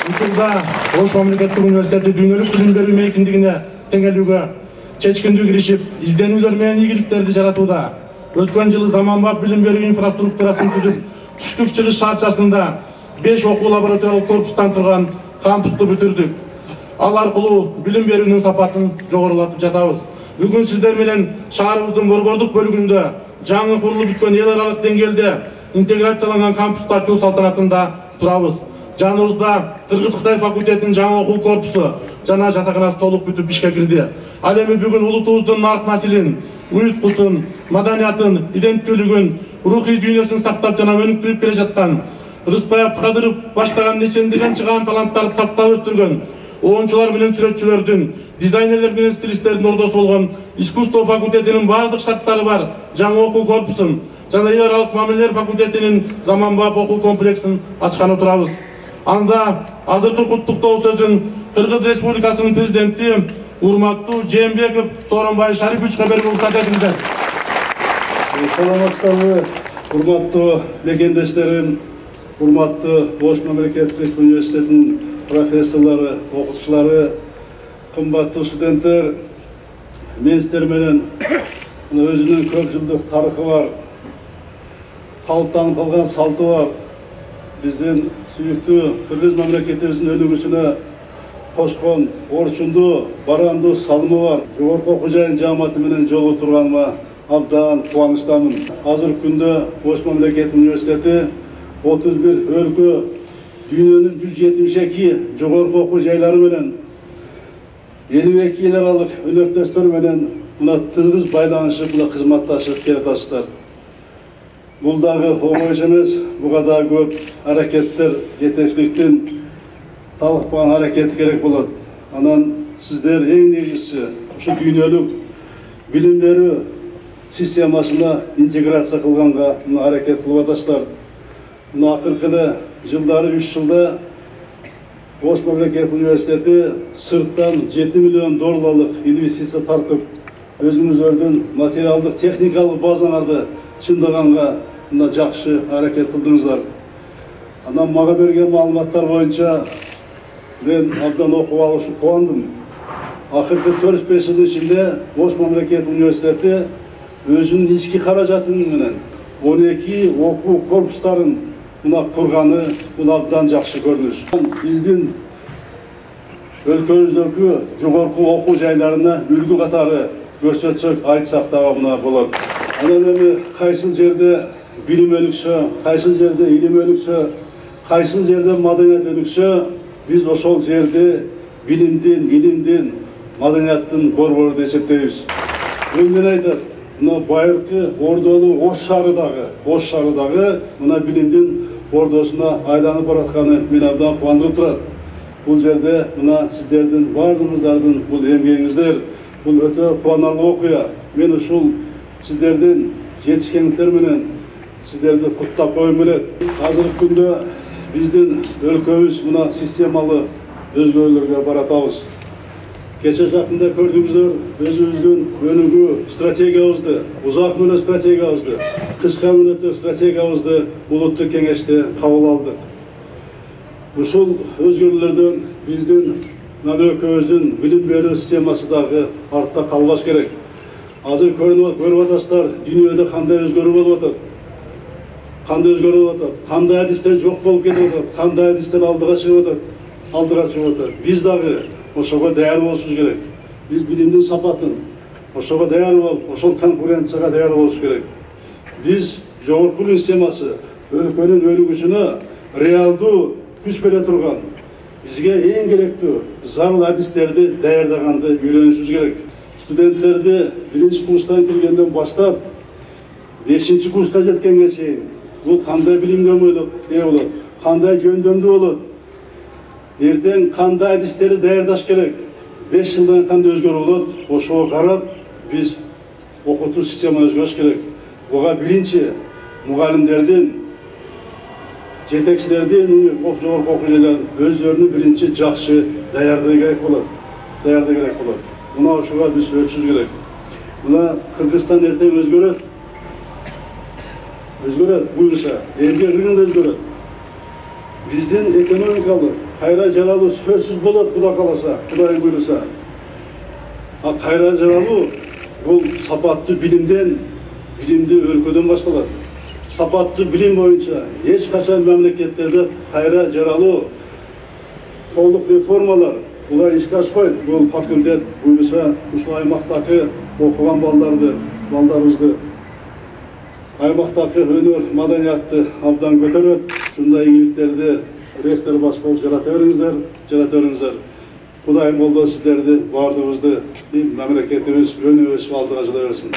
Учурда Ош мамлекеттик университети дүйнөлүк билим берүү мейкиндигине теңелүүгө чечкиндүү киришип, изденүүлөр менен ийгиликтерди жаратууда. Өткөн жылы заманбап билим берүү инфраструктурасын түзүп, түштүк чыгыш шаарчасында 5 окуу лабораториялык корпустан турган кампусту бүтүрдүк. Ал аркылуу билим берүүнүн сапатын жогорулатып жатабыз. Бүгүн сиздер менен шаарыбыздын борбордук бөлүгүндө жаңы курулуп бүткөн эл аралык деңгээлде интеграцияланган кампусту ачуу салтанатында турабыз. Жаныбызда Кыргыз-Кытай факультетинин жаңы окуу корпусу жана жатаканасы толук бүтүп ишке кирди. Ал эми бүгүн улутубуздун нарк наслин, уюткусун, маданиятын, иденттүүлүгүн, рухий дүйнөсүн сактап жана өнүктүрүп келе жаткан, Рыспай Абдыкадыров баштаган нечендеген чыгаан таланттарды таптап өстүргөн, оончулар менен сүрөтчүлөрдүн, дизайнерлер менен стилисттердин ордосу болгон искусство факультетинин бардык шарттары бар жаңы окуу корпусун жана эл аралык мамилелер факультетинин заманбап окуу комплексин ачканы турабыз. Анда азыркы куттуктоо сөзүн Кыргыз Республикасынын президенти урматтуу Жээнбеков Сооронбай Шариповичке берүүгө уруксат этиңиздер. Саламатсыздарбы, урматтуу мекендештерим, урматтуу Ош мамлекеттик университетинин профессорлору, окутуучулары, кымбаттуу студенттер, мен сиздер менен өзүнүн көп жылдык тарыхы бар, калыптанып калган салты бар, биздин сүйүктүү Кыргыз мамлекетибиздин өнүгүүсүнө кошкон орчундуу, барандуу салымы бар жогорку окуу жайынын жааматы менен жолугуп турганыма абдан кубанычтамын. Азыркы күндө Ош мамлекеттик университети 31 өлкө, дүйнөнүн 172 жогорку окуу жайлары менен 52 эл аралык өнөктөстөр менен мына тыгыз байланышып, мына кызматташып келатасыздар. Бул дагы оңой иш эмес, буга да көп аракеттер, жетекчиликтин талыкпаган аракети керек болот. Анан сиздер эң негизгиси ушу дүйнөлүк билим берүү системасына интеграция кылганга аракет кылып атасыздар. Мына акыркы эле жылдары 3 жылда Ош мамлекеттик университети сырттан $7 миллион инвестиция тартып, өзүңүздөрдүн материалдык техникалык базаңарды чындаганга мына жакшы аракет кылдыңыздар. Анан мага берген маалыматтар боюнча мен абдан окуп алып ушу кубандым. Акыркы 4-5 жылдын ичинде Ош мамлекеттик университети өзүнүн ички каражаты менен 12 окуу корпустарын мына курганы абдан жакшы көрүнүш. Биздин өлкөбүздөгү жогорку окуу жайларына үлгү катары көрсөтсөк айтсак дагы мына болот. Анан эми кайсыл жерде билим өнүксө, кайсыл жерде илим өнүксө, кайсыл жерде маданият өнүксө, биз ошол жерде билимдин, илимдин, маданияттын борбору деп эсептейбиз. Мен айтат, мына байыркы ордолуу Ош шаарыдагы мына билимдин ордосуна айланып баратканы мени абдан кубандырып турат. Бул жерде мына сиздердин бардыгыңыздардын бул эмгегиңиздер, бул өтө кубанарлык окуя. Мен ушул сиздердин жетишкендиктер менен сиздерди куттап коюм келет. Азыркы күндө биздин өлкөбүз мына системалуу өзгөрүүлөргө баратабыз. Кече жакында көрдүңүздөр өзүбүздүн өнүгүү стратегиябызды, узак мөөнөт стратегиябызды, кыска мөөнөттүк стратегиябызды улуттук кеңеште кабыл алдык. Ушул өзгөрүүлөрдөн биздин өлкөбүздүн билим берүү системасы дагы артта калбаш керек. Азыр көрүп атасыздар, дүйнөдө кандай өзгөрүү болуп атат. Кандай адистер жок болуп кетип атат, кандай адистер алдыга чыгып атат. Биз дагы ошого даяр болушубуз керек. Биз билимдин сапатын ошого даяр болуп, ошол конкуренцияга даяр болушубуз керек. Биз жогорку системасы өлкөнүн өнүгүшүнө реалдуу күч бере турган, бизге эң керектүү зарыл адистерди даярдаганды үйрөнүшүбүз керек. Студенттерди 1-курстан келгенден баштап 5-курска жеткенге чейин бул кандай билимге ээ болот, кандай жөндөмдүү болот, эртең кандай адистерди даярдаш керек, 5 жылдан кандай өзгөрүү болот, ошого карап биз окутуу системаны өзгөртүш керек. Буга биринчи мугалимдердин, жетекчилердин, жогорку окуу жайлардын өздөрүнүн биринчи жакшы даярдыгы керек болот. Мына ошого биз өтүшүбүз керек. Мына Кыргызстан эртең өзгөрөт, буюрса, эмгек рыногу өзгөрөт. биздин экономикалык кайра жаралуу сөзсүз болот, Кудай кааласа, Кудайдын буйруса. А кайра жаралуу бул сапаттуу билимден, билимдүү өлкөдөн башталат. Сапаттуу билим боюнча эч качан мамлекеттерде кайра жаралуу толук реформалар булар ишке ашпайт. Бул факультет буйруса ушул аймактагы окуган балдарыбызды аймактагы өнөр маданиятты абдан көтөрөт. Ушундай ийгиликтерди ректор башкарып жарата бериңиздер. Кудайым колдоо сиздерди, баардыгыбызды мамлекетибиз өнүгүп алдыга жыла берсин.